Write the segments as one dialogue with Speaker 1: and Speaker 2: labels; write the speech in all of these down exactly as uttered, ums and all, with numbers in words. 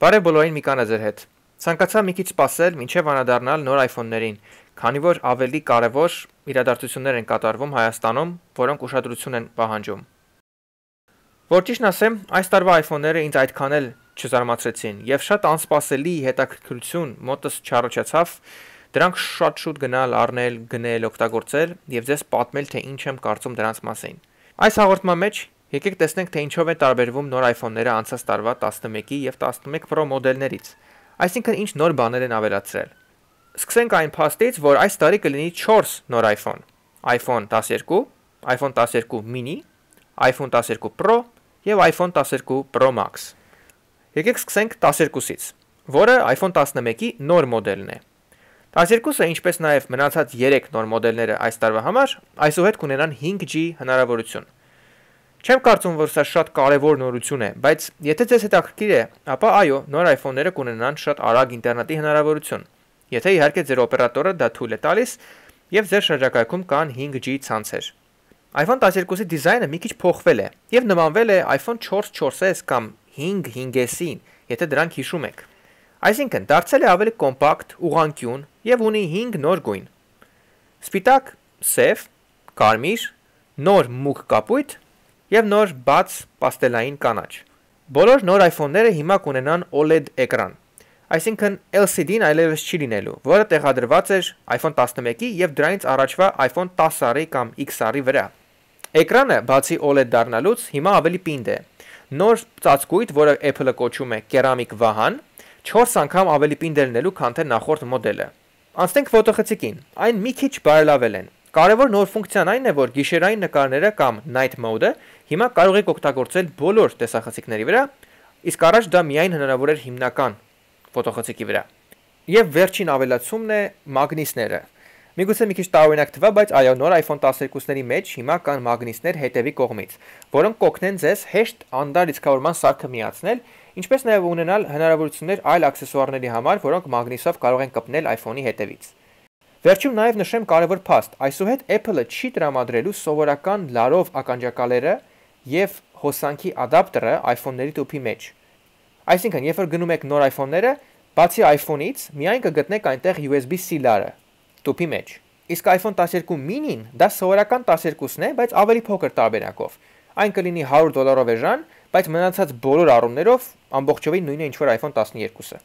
Speaker 1: Բարև բոլորին, Միկան է ձեր հետ։ Ցանկացա մի քիչ սպասել մինչև անդրադառնալ նոր iPhone-ներին, քանի որ ավելի կարևոր իրադարձություններ են կատարվում Հայաստանում, որոնք ուշադրություն են պահանջում։ Որ ճիշտն ասեմ, այս տարվա iPhone-ները ինձ այդքան էլ չզարմացրեցին, եւ շատ անսպասելի հետաքրքրություն մոտս չառաջացավ դրանք շատ շուտ գնալ, առնել, գնել, օգտագործել եւ ձեզ պատմել, թե ինչ եմ կարծում դրանց մասին։ Այս հաղորդման մեջ եկեք տեսնենք, թե ինչով է տարբերվում նոր iPhone-ները անցած տարվա տասնմեկի եւ տասնմեկ Pro մոդելներից, այսինքն ինչ նոր բաներ են ավելացրել։ Սկսենք այն փաստից, որ այս տարի կլինի չորս նոր iPhone. iPhone տասներկու, iPhone տասներկու mini, iPhone տասներկու Pro եւ iPhone տասներկու Pro Max։ Եկեք սկսենք տասներկուսից, որը iPhone տասնմեկի նոր մոդելն է։ տասներկուսը, ինչպես նաեւ մնացած երեք նոր մոդելները այս տարվա համար, այսուհետ կունենան հինգ G հնարավորություն։ Չեմ կարծում, որ սա շատ կարևոր նորություն է, բայց եթե ձեզ հետաքրքիր է, ապա այո, նոր iPhone-ները կունենան շատ արագ ինտերնետի հնարավորություն։ Եթե իհարկե ձեր օպերատորը դա թույլ է տալիս եւ ձեր շրջակայքում կան հինգ G ցանցեր։ iPhone տասներկուսի դիզայնը մի քիչ փոխվել է եւ նմանվել է iPhone չորս չորս S կամ հինգ հինգ S-ին, եթե դրանք հիշում եք։ Այսինքն դարձել է ավելի կոմպակտ, ուղղանկյուն եւ ունի հինգ նոր գույն։ Սպիտակ, սև, կարմիր, նոր մուգ կապույտ եւ նոր բաց պաստելային կանաչ։ Բոլոր նոր iPhone-ները հիմա կունենան O L E D էկրան, այսինքն L C D-ն այլևս չի լինելու, որը տեղադրված էր iPhone տասնմեկի եւ դրանից առաջվա iPhone տասը կամ X R-ի վրա։ Էկրանը, բացի O L E D դառնալուց, հիմա ավելի պինդ է։ Նոր ծածկույթ, որը Apple-ը կոչում է կերամիկ վահան, չորս անգամ ավելի պինդ է լինելու, քան թե նախորդ մոդելը։ Անցնենք ֆոտոխցիկին։ Այն մի քիչ բարելավել են։ Կարևոր նոր ֆունկցիան այն է, որ գիշերային նկարները կամ night mode-ը հիմա կարող եք օգտագործել բոլոր տեսախցիկների վրա, իսկ առաջ դա միայն հնարավոր էր հիմնական ֆոտոխցիկի վրա։ Եվ վերջին ավելացումն է մագնիսները։ Միգուցե մի քիչ տարօրինակ թվա, բայց այո, նոր iPhone տասներկուսների մեջ հիմա կան մագնիսներ հետևի կողմից, որոնք կօգնեն ձեզ հեշտ անդար լիցքավորման սարքը միացնել, ինչպես նաև ունենալ հնարավորություններ այլ աքսեսուարների համար, որոնք մագնիսով կարող են կպնել iPhone-ի հետևից։ Վերջում նաև նշեմ կարևոր փաստ, այսուհետ Apple-ը չի տրամադրելու սովորական լարով ականջակալերը եւ հոսանքի ադապտերը iPhone-ների տուփի մեջ։ Այսինքն, երբ որ գնում եք նոր iPhone-ները, բացի iPhone-ից, միայն կգտնեք այնտեղ U S B C լարը տուփի մեջ։ Իսկ iPhone տասներկու mini-ն դա սովորական տասներկուսն է, բայց ավելի փոքր տարբերակով։ Այն կլինի հարյուր դոլարով էժան, բայց մնացած բոլոր առումներով ամբողջովին նույնը ինչ որ iPhone տասներկուսը։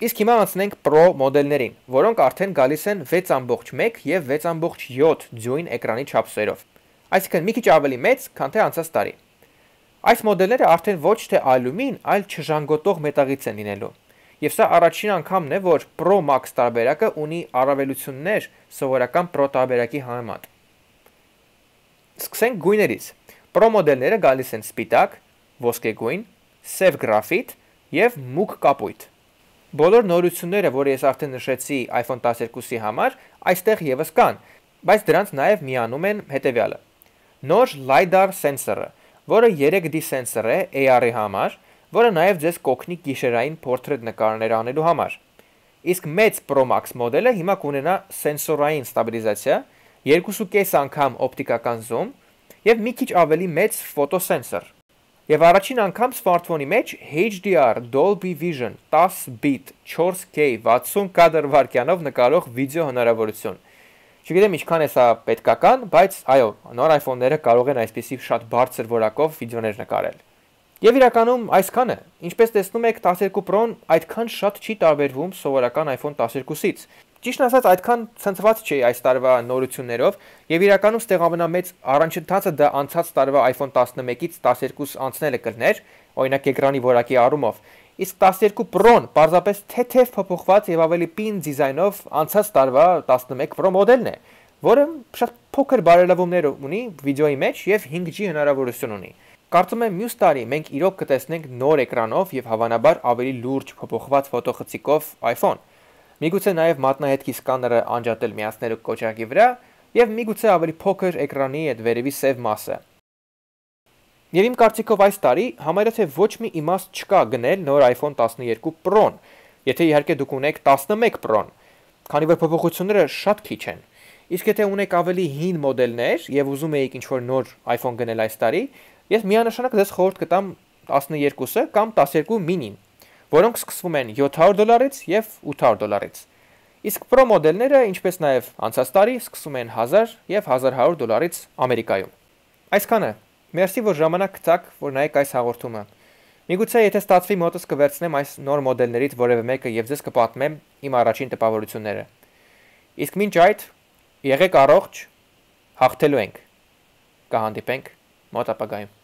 Speaker 1: Իսկ հիմա անցնենք Pro մոդելներին, որոնք արդեն գալիս են վեց կόμma մեկ եւ վեց կόμma յոթ դյույն էկրանի չափսերով։ Այսինքն մի քիչ ավելի մեծ, քան թե անցած տարի։ Այս մոդելները արդեն ոչ թե ալյումին, այլ չժանգոտող մետաղից են լինելու։ Եվ սա առաջին անգամն է, որ Pro Max տարբերակը ունի առավելություններ սովորական Pro տարբերակի համեմատ։ Սկսենք գույներից։ Pro մոդելները գալիս են սպիտակ, ոսկեգույն, սև գրաֆիտ եւ մուգ կապույտ։ Բոլոր նորությունները, որ ես արդեն նշեցի iPhone տասներկուսի համար, այստեղ եւս կան, բայց դրանց նաեւ միանում են հետեւյալը. նոր LiDAR սենսորը, որը երեք D սենսոր է A R-ի համար, որը նաեւ ձեզ կօգնի գիշերային portrait նկարներ անելու համար։ Իսկ մեծ Pro Max մոդելը հիմա կունենա սենսորային ստաբիլիզացիա, երկու կես անգամ օպտիկական զում եւ մի քիչ ավելի մեծ ֆոտոսենսոր։ Եվ առաջին անգամ սմարթֆոնի մեջ H D R Dolby Vision դես բիտ չորս K վաթսուն կադր վայրկյանով նկարող վիդեո հնարավորություն։ Չգիտեմ ինչքան է սա պետքական, բայց այո, նոր iPhone-ները կարող են այսպիսի շատ բարձր որակով վիդեոներ նկարել։ Եվ իրականում այսքանը, ինչպես տեսնում եք, տասներկու Pro-ն այդքան շատ չի տարբերվում սովորական iPhone տասներկուսից։ Ճիշտն ասած, այդքան ցնցված չի այս տարվա նորություններով, եւ իրականում ստեղ ամենամեծ առանցքը դա անցած տարվա iPhone տասնմեկից տասներկուս անցնելը կլներ, օրինակ էկրանի որակի առումով։ Իսկ տասներկու Pro-ն պարզապես թեթև փոփոխված եւ ավելի պին դիզայնով անցած տարվա տասնմեկ Pro մոդելն է, որը շատ փոքր բարելավումներ ունի վիդեոյի մեջ եւ հինգ G հնարավորություն ունի։ Կարծում եմ մյուս տարի մենք իրոք կտեսնենք նոր էկրանով եւ հավանաբար ավելի լուրջ փոփոխված ֆոտոխցիկով iPhone։ Միգուցե նաեւ մատնահետքի սկաները անջատել միացնելու կոճակի վրա եւ միգուցե ավելի փոքր էկրանի այդ վերևի սև մասը։ Եվ իմ կարծիքով այս տարի համարյա թե ոչ մի իմաստ չկա գնել նոր iPhone տասներկու Pro-ն, եթե իհարկե դուք ունեք տասնմեկ Pro-ն, քանի որ փոփոխությունները շատ քիչ են։ Իսկ եթե ունեք ավելի հին մոդելներ եւ ուզում եք ինչ-որ նոր iPhone գնել այս տարի, Ես միանշանակ ձեզ խորհուրդ կտամ տասներկուսը կամ տասներկու մինին, որոնք սկսվում են յոթ հարյուր դոլարից եւ ութ հարյուր դոլարից։ Իսկ Pro մոդելները, ինչպես նաեւ անցած տարի, սկսվում են հազար եւ հազար հարյուր դոլարից Ամերիկայում։ Այսքանը։ Մերսի, որ ժամանակ գտաք, որ նայեք այս հաղորդումը։ Միգուցե եթե ստացվի մոտս կվերցնեմ այս նոր մոդելներից որևէ մեկը եւ ձեզ կպատմեմ իմ առաջին տպավորությունները։ Իսկ մինչ այդ, եղեք առողջ, հաղթելու ենք։ Կհանդիպենք մոտ ապագայում։